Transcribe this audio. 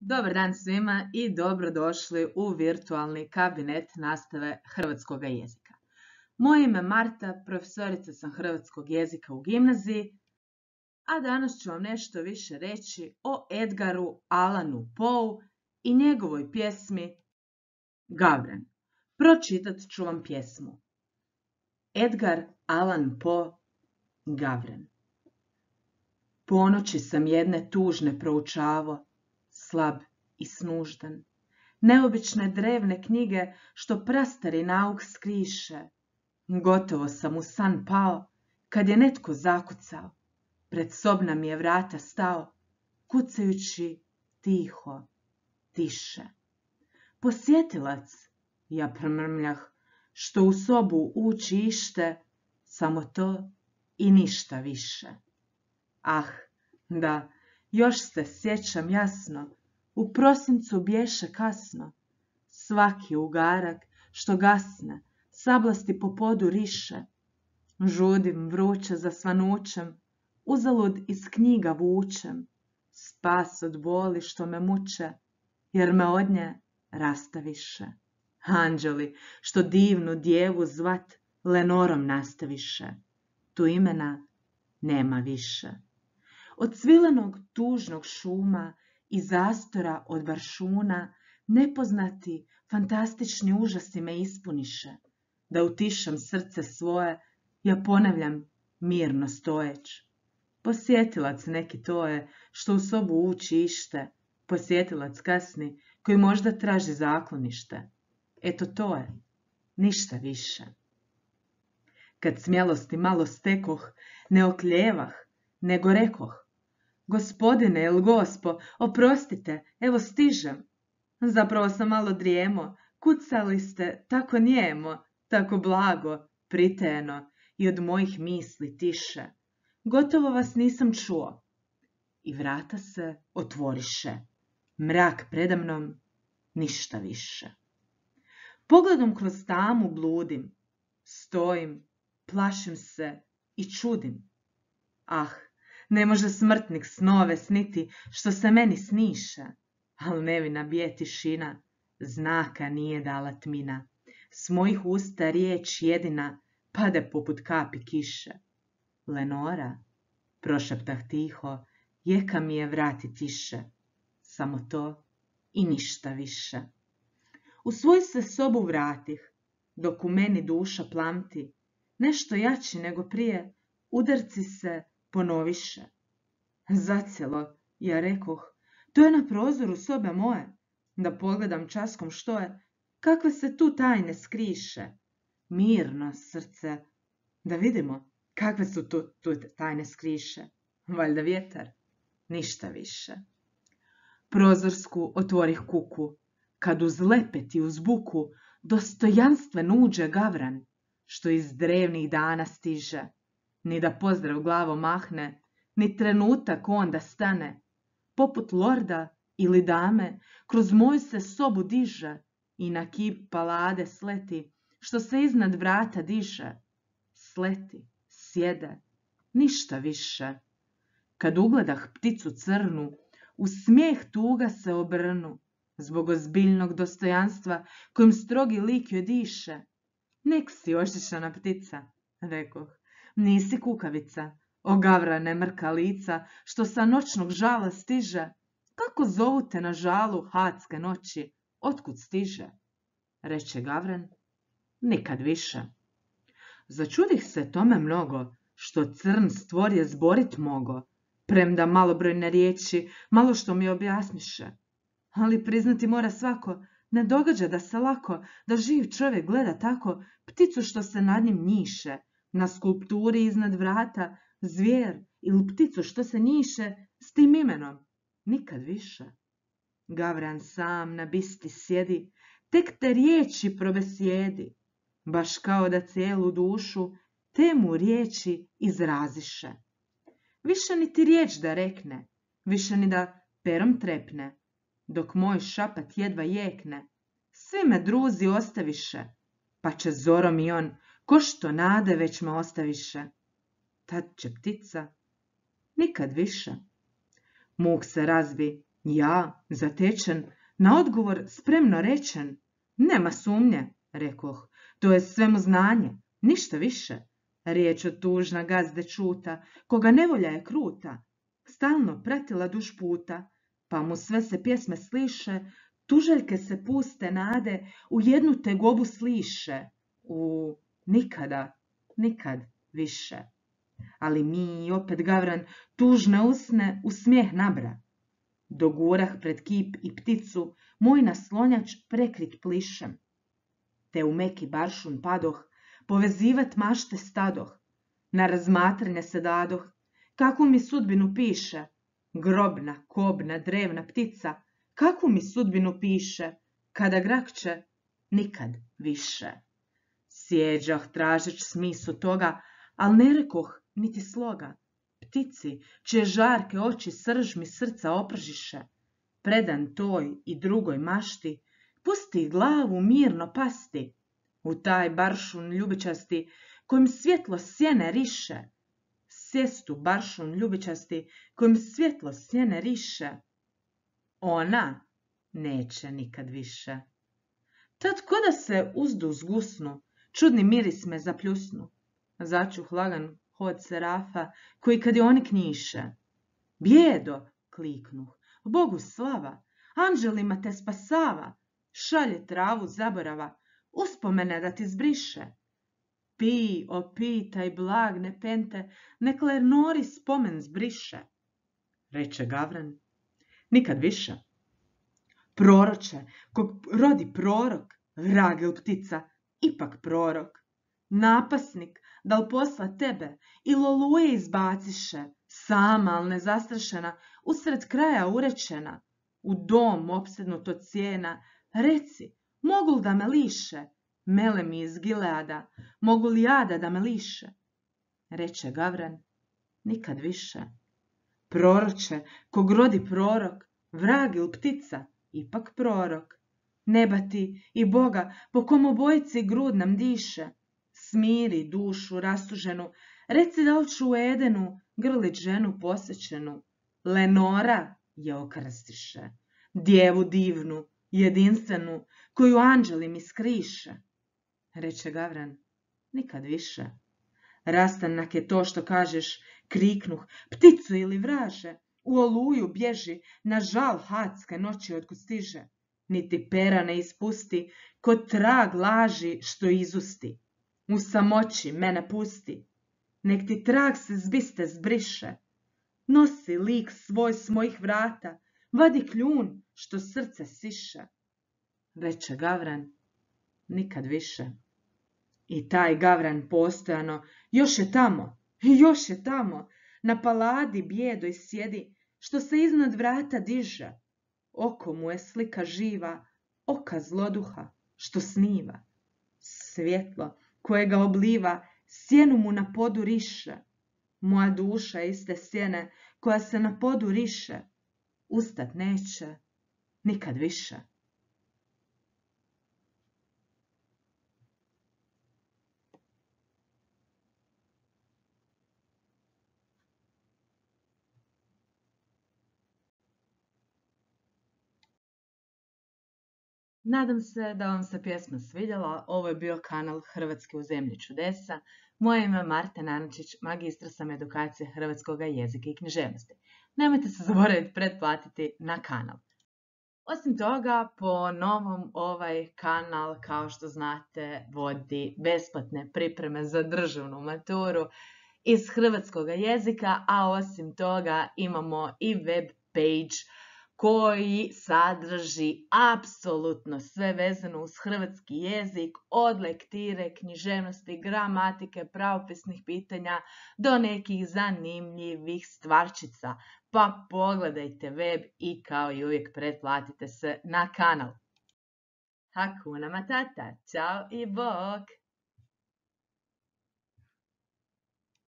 Dobar dan svima i dobrodošli u virtualni kabinet nastave hrvatskog jezika. Moje ime je Marta, profesorica sam hrvatskog jezika u gimnaziji, a danas ću vam nešto više reći o Edgaru Allanu Poe i njegovoj pjesmi Gavran. Pročitat ću vam pjesmu. Edgar Allan Poe, Gavran. Ponoći sam jedne tužne proučavo, slab i snuždan, neobične drevne knjige što prastari nauk skriše. Gotovo sam u san pao, kad je netko zakucao, pred sobna mi je vrata stao, kucajući tiho, tiše. Posjetilac, ja promrmljah, što u sobu ući ište, samo to i ništa više. Ah, da, još se sjećam jasno, u prosincu bješe kasno, svaki ugarak što gasne, sablasti po podu riše. Žudim vruće za svanućem, uzalud iz knjiga vučem, spas od boli što me muče, jer me od nje rastaviše. Anđeli što divnu djevu zvat Lenorom nastaviše, tu imena nema više. Od cvilenog tužnog šuma i zastora od baršuna nepoznati fantastični užasi me ispuniše, da utišam srce svoje, ja ponavljam mirno stojeć. Posjetilac neki to je što u sobu uči ište, posjetilac kasni koji možda traži zaklonište. Eto to je, ništa više. Kad smjelosti malo stekoh, ne okljevah, nego rekoh: Gospodine ili gospo, oprostite, evo stižem. Zapravo sam malo drijemo, kucali ste tako njemo, tako blago, pritajeno i od mojih misli tiše. Gotovo vas nisam čuo. I vrata se otvoriše. Mrak predamnom, ništa više. Pogledom kroz tamu bludim, stojim, plašim se i čudim. Ah, ne može smrtnik snove sniti što se meni sniše, al nevina bije tišina, znaka nije dala tmina. S mojih usta riječ jedina pade poput kapi kiše. Lenora, prošeptah tiho, jeka mi je vrati tiše, samo to i ništa više. U svoju se sobu vratih, dok u meni duša plamti, nešto jači nego prije, udarci se ponoviše. Zacijelo, ja rekoh, to je na prozoru sobe moje, da pogledam časkom što je, kakve se tu tajne skriše. Mirno, srce, da vidimo kakve su tu tajne skriše. Valjda vjetar, ništa više. Prozorsku otvorih kuku, kad uz lepet i uz buku dostojanstven uđe Gavran, što iz drevnih dana stiže. Ni da pozdrav glavo mahne, ni trenutak onda stane. Poput lorda ili dame, kroz moju se sobu diže i na kip palade sleti, što se iznad vrata diže. Sleti, sjede, ništa više. Kad ugledah pticu crnu, u smijeh tuga se obrnu, zbog ozbiljnog dostojanstva kojim strogi lik joj diše. Nek si ošišana ptica, rekoh, nisi kukavica, o Gavrane mrka lica, što sa noćnog žala stiže. Kako zovu te na žalu hadske noći, otkud stiže? Reče Gavran, nikad više. Začudih se tome mnogo, što crn stvorje zborit mogo, premda malobrojne riječi malo što mi objasniše. Ali priznati mora svako, ne događa da se lako, da živ čovjek gleda tako pticu što se nad njim njiše, na skulpturi iznad vrata, zvijer ili pticu što se njiše s tim imenom. Nikad više. Gavran sam na bisti sjedi, tek te riječi probesjedi, baš kao da cijelu dušu te mu riječi izraziše. Više niti riječ da rekne, više ni da perom trepne, dok moj šapat jedva jekne, svi me druzi ostaviše, pa će zorom i on, ko što nade već me ostaviše. Tad će ptica nikad više. Muk se razbi Ja, zatečen, na odgovor spremno rečen. Nema sumnje, rekoh, to je svemu znanje, ništa više. Riječ od tužna gazde čuta, koga nevolja je kruta, stalno pratila duž puta, pa mu sve se pjesme sliše, tuželjke se puste nade, u jednu tegobu sliše, u nikada, nikad više. Ali mi opet Gavran tužne usne u smijeh nabra. Dogurah pred kip i pticu, moj naslonjač prekrit plišem. Te u meki baršun padoh, povezivat mašte stadoh. Na razmatranje se dadoh, kakvu mi sudbinu piše. Grobna, kobna, drevna ptica, kakvu mi sudbinu piše, kada grakće, nikad više. Sjeđah tražeć smisu toga, al ne rekoh niti sloga. Ptici, čije žarke oči srž mi srca opržiše, predan toj i drugoj mašti, pusti glavu mirno pasti, u taj baršun ljubičasti, kojim svjetlo sjene riše, sjestu baršun ljubičasti, kojim svjetlo sjene riše, ona neće nikad više. Tad koda se uzdu zgusnu, čudni miris me zapljusnu, začuh lagan hod serafa, koji kad je oni knjiše. Bjedo, kliknuh, Bogu slava, anđelima te spasava, šalje travu zaborava, uspomene da ti zbriše. Pi, opitaj blag nepente, nek Lernori spomen zbriše. Reče Gavran, nikad više. Proroče, kog rodi prorok, vragel ptica, ipak prorok. Napasnik, dal posla tebe, i loluje izbaciše, sama, al nezastrašena, usred kraja urečena, u dom opsednut od cijena, reci, mogu li da me liše, mele mi iz Gileada, mogu li jada da me liše? Reče Gavran, nikad više. Proroče, kog rodi prorok, vrag il ptica, ipak prorok. Neba ti i Boga, po kom obojici grud nam diše, smiri dušu rastuženu, reci da li ću u Edenu grlit ženu posjećenu. Lenora je okrstiše, djevu divnu, jedinstvenu, koju anđeli mi skriše. Reče Gavran, nikad više. Rastanak je to što kažeš, kriknuh, pticu ili vraže, u oluju bježi, na žal hadske noći otkud stiže. Niti pera ne ispusti, ko trag laži što izusti. U samoći mene pusti, nek ti trag se zbiste zbriše. Nosi lik svoj s mojih vrata, vadi kljun što srce siše. Reče Gavran, nikad više. I taj Gavran postojano još je tamo, na paladi bijedoj sjedi, što se iznad vrata diže. Oko mu je slika živa, oka zloduha, što sniva. Svjetlo koje ga obliva, sjenu mu na podu riše. Moja duša je iste sjene, koja se na podu riše. Ustat neće, nikad više. Nadam se da vam se pjesma svidjela. Ovo je bio kanal Hrvatske u zemlji čudesa. Moje ime je Marta Nanačić, magistra sam edukacije hrvatskog jezika i književnosti. Nemojte se zaboraviti pretplatiti na kanal. Osim toga, po novom ovaj kanal, kao što znate, vodi besplatne pripreme za državnu maturu iz hrvatskog jezika, a osim toga imamo i web page koji sadrži apsolutno sve vezano uz hrvatski jezik, od lektire, književnosti, gramatike, pravopisnih pitanja do nekih zanimljivih stvarčica. Pa pogledajte web i kao i uvijek pretplatite se na kanal. Hakuna Matata, ćao i bok!